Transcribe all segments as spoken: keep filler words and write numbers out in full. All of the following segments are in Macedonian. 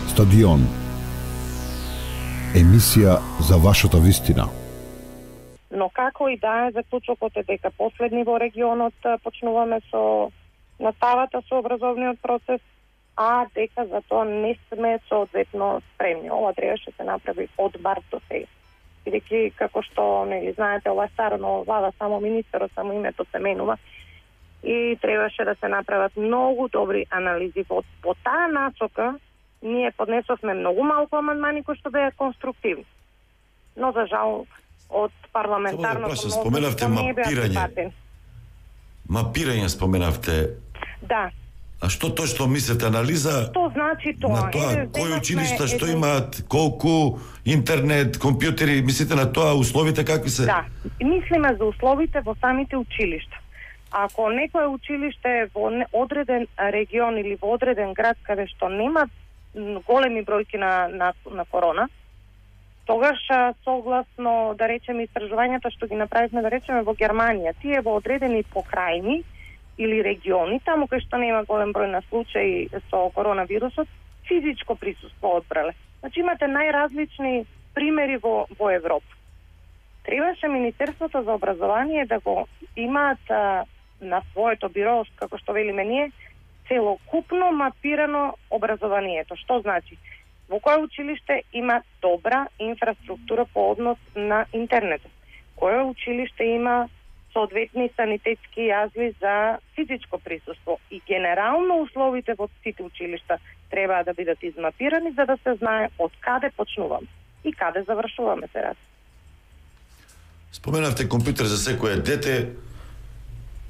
Стадион. Емисија за вашата вистина. Но како и да е, заклучокот е дека последни во регионот почнуваме со наставата со образовниот процес, а дека за тоа не сме соодветно спремни. Ова требаше се направи од март до сега. Бидејќи, како што нели знаете, ова е старо влада, само министерот, само името се менува, и требаше да се направат многу добри анализи. По, по таа насока ние поднесовме многу малку амандмани кои што беа конструктивни. Но за жал од парламентарното мнозинство споменавте мапирање. Мапирање споменавте. Да. А што точно мислите, анализа? Што значи тоа? На тоа, Еде, кои училишта што еде... имаат, колку интернет, компјутери, мислите на тоа, условите какви се? Да, мислиме за условите во самите училишта. Ако некое училиште во одреден регион или во одреден град каде што нема големи бројки на, на, на корона, тогаш согласно, да речеме, истражувањата што ги направивме, да речеме, во Германија, тие во одредени покрајни или региони, таму кај што нема голем број на случаи со коронавирусот, физичко присуство одбрале. Значи имате најразлични примери во, во Европа. Требаше Министерството за образование да го имаат а, на своето биро, како што велиме ние, целокупно мапирано образованието. Што значи? Во кое училиште има добра инфраструктура по однос на интернет? Кое училиште има соодветни санитетски јазви за физичко присуство? И генерално условите во сите училишта треба да бидат измапирани за да се знае од каде почнуваме и каде завршуваме се раз. Споменавте компјутер за секое дете.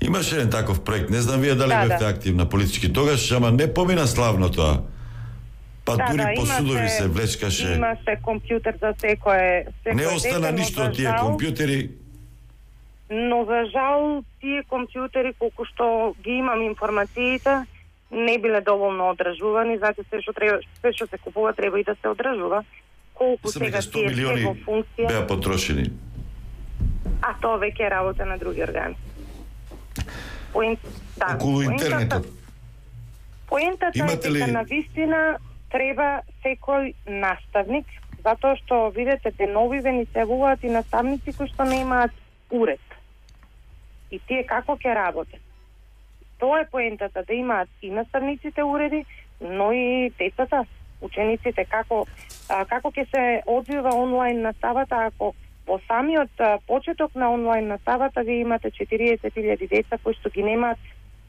Имаше еден таков проект, не знам вие дали да, бевте да. активна политички тогаш, ама не помина славно тоа. Па да, дури да, по судови се влечкаше. Имаше компјутер за секое, секое не остана дете, ништо од тие жал, компјутери. Но за жал тие компјутери, колку што ги имам информациите, не биле доволно одржувани, зато се што треба, се што се купува треба и да се одржува. Колку сега сто тие милиони во функција беа потрошени. А тоа веќе е работа на други органи. Поент, да, околу интернетот. Поентата Имате е ли... дека на вистина треба секој наставник, затоа што видите деновиве ни се явуваат и наставници кои што не имаат уред. И тие како ќе работат? Тоа е поентата, да имаат и наставниците уреди, но и децата, учениците, како а, како ќе се одвива онлайн наставата ако во самиот а, почеток на онлайн наставата ви имате четириесет илјади деца кои што ги немаат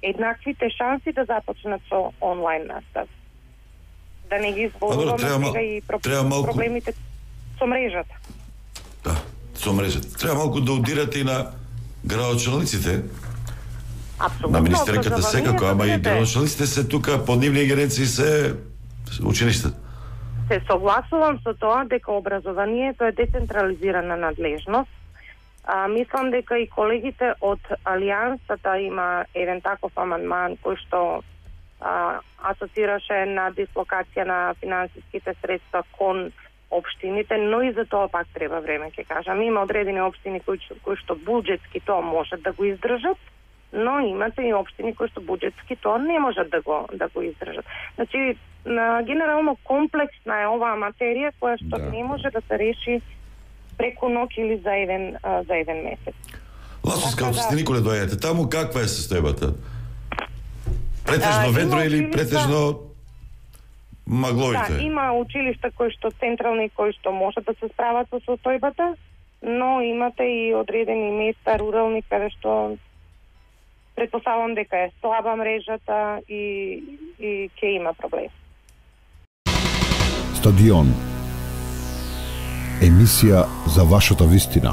еднаквите шанси да започнат со онлайн настава. Да не ги изборуваме сега и про... малку... проблемите со мрежата. Да, со мрежата. Треба малку да удирате и на градоначалниците. Апсолутно. На министерката секако, ама и градоначалниците се тука, под нивни ингеренции се училиштата. Се согласувам со тоа дека образованието е децентрализирана надлежност. А, мислам дека и колегите од Алијансата има еден таков амандман кој што а, асоцираше на дислокација на финансиските средства кон општините, но и за тоа пак треба време, ќе кажам. Има одредени општини кои, кои што буџетски тоа можат да го издржат, но имате и општини кои што буџетски тоа не можат да го да го издржат. Значи, на, генерално комплексна е оваа материја која што да. не може да се реши преку ноќ или за еден а, за еден месец. Ласовска, од сте николе доаѓате таму, каква е состојбата? А, Претежно ведро или училишта... претежно магловите? Да, има училишта кои што централни кои што можат да се справат со состојбата, но имате и одредени места рурални каде што претпоставам дека е слаба мрежата и и ќе има проблем. Стадион. Емисија за вашата вистина.